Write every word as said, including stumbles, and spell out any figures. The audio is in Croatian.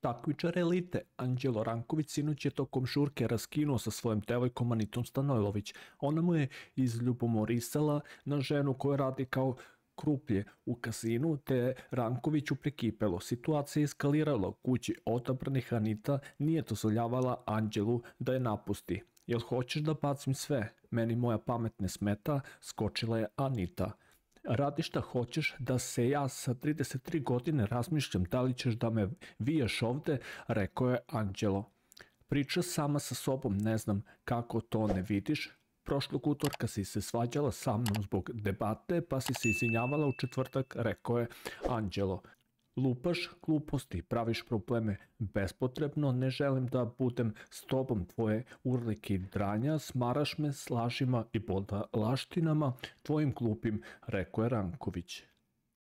Takmičar elite Anđelo Ranković sinoć je tokom žurke raskinuo sa svojom devojkom Anitom Stanojlović. Ona mu je izljubomorisala na ženu koja radi kao kruplje u kasinu, te je Rankoviću prekipelo. Situacija je eskalirala u kući odabranih. Anita nije dozvoljavala Anđelu da je napusti. Jel hoćeš da bacim sve? Meni moja pamet ne smeta, skočila je Anita. Radi šta hoćeš, da se ja sa trideset tri godine razmišljam da li ćeš da me viješ ovde, rekao je Anđelo. Priča sama sa sobom, ne znam kako to ne vidiš. Prošlog utorka si se svađala sa mnom zbog debate, pa si se izvinjavala u četvrtak, rekao je Anđelo. Lupaš gluposti, praviš probleme bespotrebno, ne želim da budem s tobom tvoje urlike i dranja, smaraš me s lažima i laštinama tvojim glupim, rekao je Ranković.